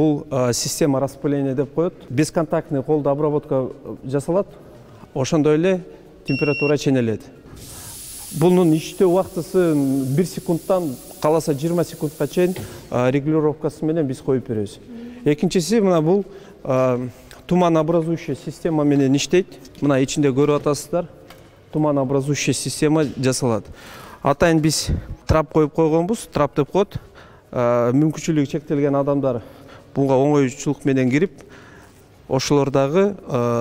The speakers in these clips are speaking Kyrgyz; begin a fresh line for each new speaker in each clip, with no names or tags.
Бул система распыления деп коет. Бесконтактный колдо обработка жасалат. Ошондой эле температура ченелет. Бунун иштөө убактысы 1 секундтан каласа 20 секундка чейин регулировкасы менен биз коюп беребиз. Экинчиси мына бул туманообразующая система менен иштейт. Мына ичинде көрүп атасыздар. Туманообразующая система жасалат. Атайын биз трап коюп койгонбуз, трап деп коет. Мүмкүнчүлүгү чектелген адамдар буга оңойчулук менен кирип, ошолор дагы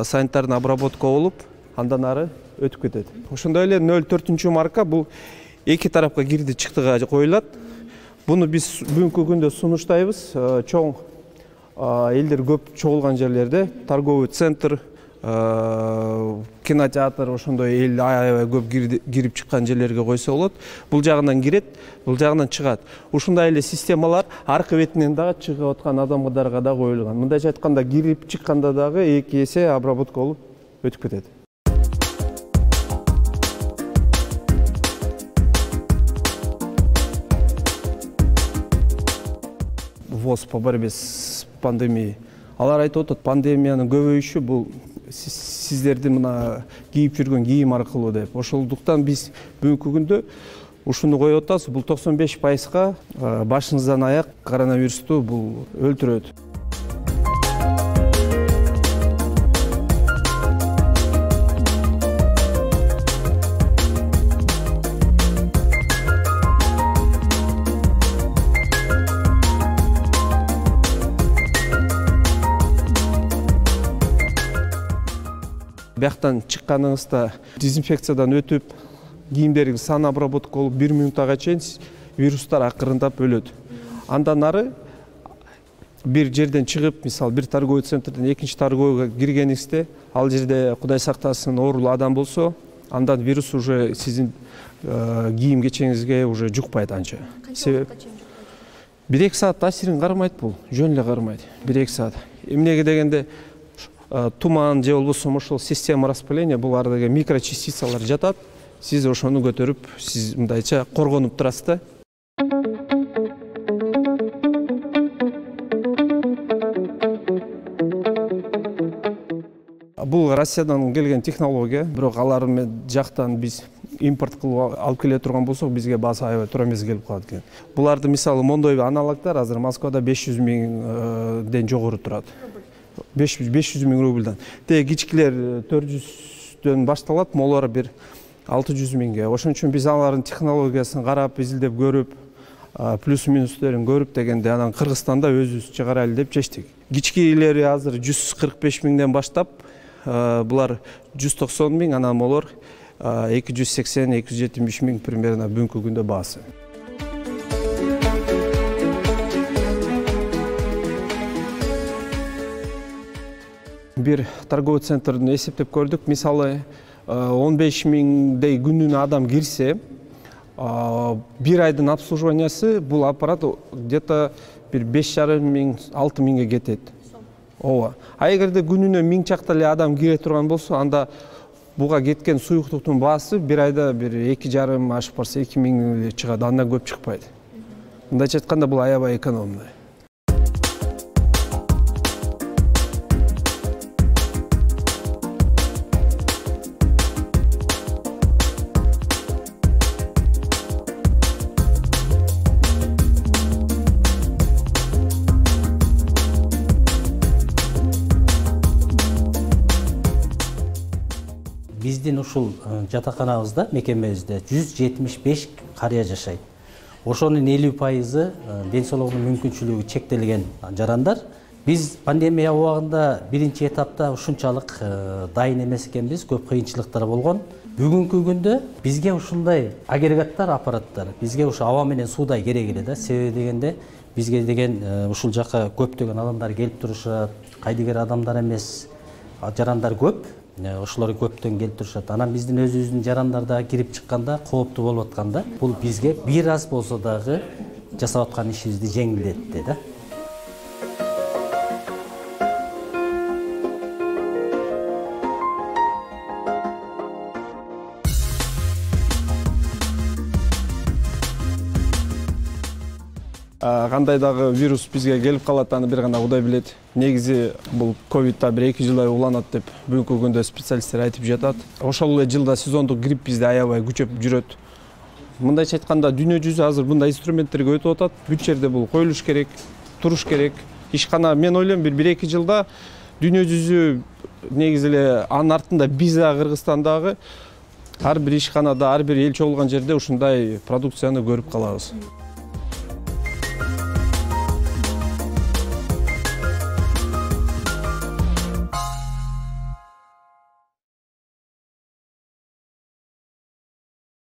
санитарный обработка болуп, андан ары өтүп кетет. Ошондой эле 04 марка бул эки тарапка кирди чыктыга коюлат. Буну биз бүгүнкү күндө сунуштайбыз. Чоң элдер көп чогулган жерлерде, торговый центр, кинотеатр, ошондой эл аябай көп кирип чыккан жерлерге койсо болот. Бул жагынан кирет, бул жагынан чыгат. Ушундай эле системалар аркы бетинен дагы чыгып аткан адамдарга да коюлган. Мындайча айтканда кирип чыкканда дагы 2 эсе обработка болуп өтүп кетет. ВОЗ по борьбе с пандемией. Алар айтып атат, пандемиянын көбөйүшү бул сиздердин мына кийип жүргөн кийим аркылуу деп. Ошондуктан биз бүгүнкү күндө ушуну коюп атабыз. Бул 95%га башыңыздан аяк коронавирусту бул өлтүрөт. Бияктан чыкканыңызда дезинфекциядан өтүп, кийимдериңиз сан обработка болуп 1 минутага чейин вирустар акырындап өлөт. Андан ары бир жерден чыгып, мисалы бир торговый центрден экинчи торговыйга киргениңизде, ал жерде Кудай сактасын оорулуу адам болсо, андан вирус уже сиздин кийим кечеңизге уже жукпайт анча. Себеп 1-2 саат таасирин кармайт бул, жөн эле кармайт. 1-2 саат. Эмнеге дегенде туман же болбосо ошол система распыления бул ардагы микрочастицалар жатат. Сиз ошону көтөрүп, сиз мындайча коргонуп турасыз да. Бул Россиядан келген технология, бирок алар жактан биз импорт кылып алып келе турган болсок, бизге баасы аябай туура эмес келип калат экен. Буларды мисалы мондой аналогдор азыр Москвада 500 миңден жогору турат. 500 миң рубльдан. Теги кичкилер 400дөн башталат, молор бир 600 миңге. Ошон үчүн биз алардын технологиясын карап, изилдеп көрүп, плюс-минустерин көрүп дегенде анан Кыргызстанда өзүбүз чыгарайлы деп чечтик. Кичкилери азыр 145 миңден баштап, булар 190 миң, анан молор 280-270 миң примерно бүгүнкү күндө баасы. Бир торговый центрдин эсептеп көрдүк. Мисалы 15 миңдей күнүнө адам кирсе, бир айдын обслуживаниясы бул аппарат где-то бир 5,5 миң, 6 миңге кетет. Ооба. А эгерде күнүнө 1000 чакта эле адам кире турган болсо, анда буга кеткен суюктуктун баасы бир айда бир 2,5 ашып барса 2 миң чыгат, андан көп чыкпайт. Мындайча айтканда бул аябай экономный.
Биздин ушул жатаканабызда, мекемебизде 175 карыя жашайт. Ошонун 50% ден соолугунун мүмкүнчүлүгү чектелген жарандар. Биз пандемия убагында биринчи этапта ушунчалык дайын эмес экенбиз, көп кыйынчылыктар болгон. Бүгүнкү күндө бизге ушундай агрегаттар, аппараттар, бизге ушу аба менен суудай керек эле да. Себеби дегенде бизге деген ушул жака көптөгөн адамдар келип турушат, кайдыгер адамдар эмес, жарандар көп. Ошолор көптөн келип турушат. Анан биздин өзүбүздүн жарандарда кирип чыкканда кооптуу болуп атканда, бул бизге бир аз болсо дагы жасап аткан ишибизди жеңилдетти да.
Кандай дагы вирус бизге келип калат, аны бир гана Кудай билет. Негизи бул ковидта 1-2 жылдай уланат деп бүгүнкү күндө специалисттер айтып жатат. Ошол эле жылда сезондук грипп бизде аябай күчөп жүрөт. Мындайча айтканда дүйнө жүзү азыр мындай инструменттерге өтүп атат. Бүт жерде бул коюлуш керек, туруш керек. Ишкана мен ойлойм 1-2 жылда дүйнө жүзү негизи эле анын артында биз Кыргызстандагы ар бир ишканада, ар бир элчи болгон жерде ушундай продукцияны көрүп калабыз.